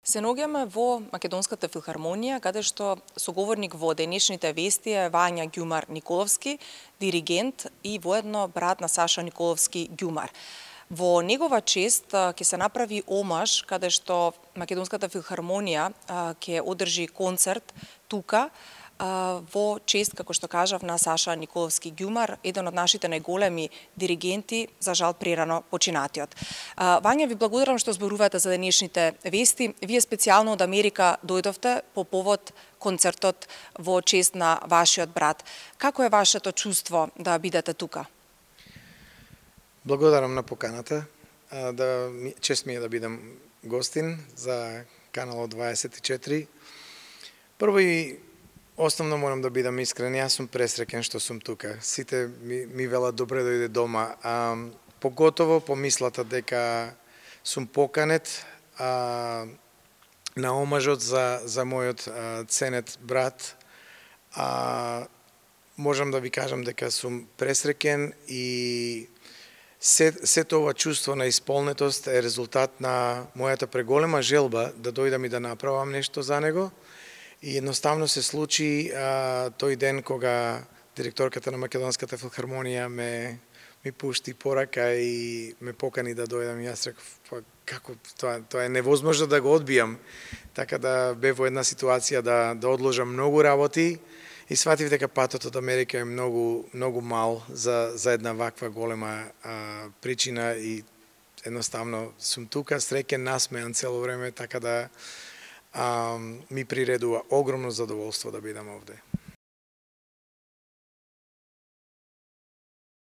Се наоѓаме во Македонската филхармонија, каде што соговорник во денешните вести е Вања Ѓумар Николовски, диригент и воедно брат на Саша Николовски Ѓумар. Во негова чест ќе се направи омаж, каде што Македонската филхармонија ќе одржи концерт тука, во чест, како што кажав, на Саша Николовски Ѓумар, еден од нашите најголеми диригенти, за жал прерано починатиот. Вања, ви благодарам што зборувате за денешните вести. Вие специјално од Америка дојдовте по повод концертот во чест на вашиот брат. Како е вашето чувство да бидете тука? Благодарам на поканата. Чест ми е да бидам гостин за Каналот 24. Прво и основно морам да бидам искрен, јас сум пресреќен што сум тука. Сите ми велат добре дојде дома. Поготово помислата дека сум поканет на омажот за мојот ценет брат. Можам да ви кажам дека сум пресреќен и сето ова чувство на исполнетост е резултат на мојата преголема желба да дојдам и да направам нешто за него. И едноставно се случи тој ден кога директорката на Македонската филхармонија ми пушти порака и ме покани да дојдам. Јас реков, како тоа е невозможно да го одбијам. Така да бев во една ситуација да одложам многу работи и сватив дека патот од Америка е многу мал за една ваква голема причина и едноставно сум тука, среќен, насмеан цело време, така да ми приредува огромно задоволство да бидам овде.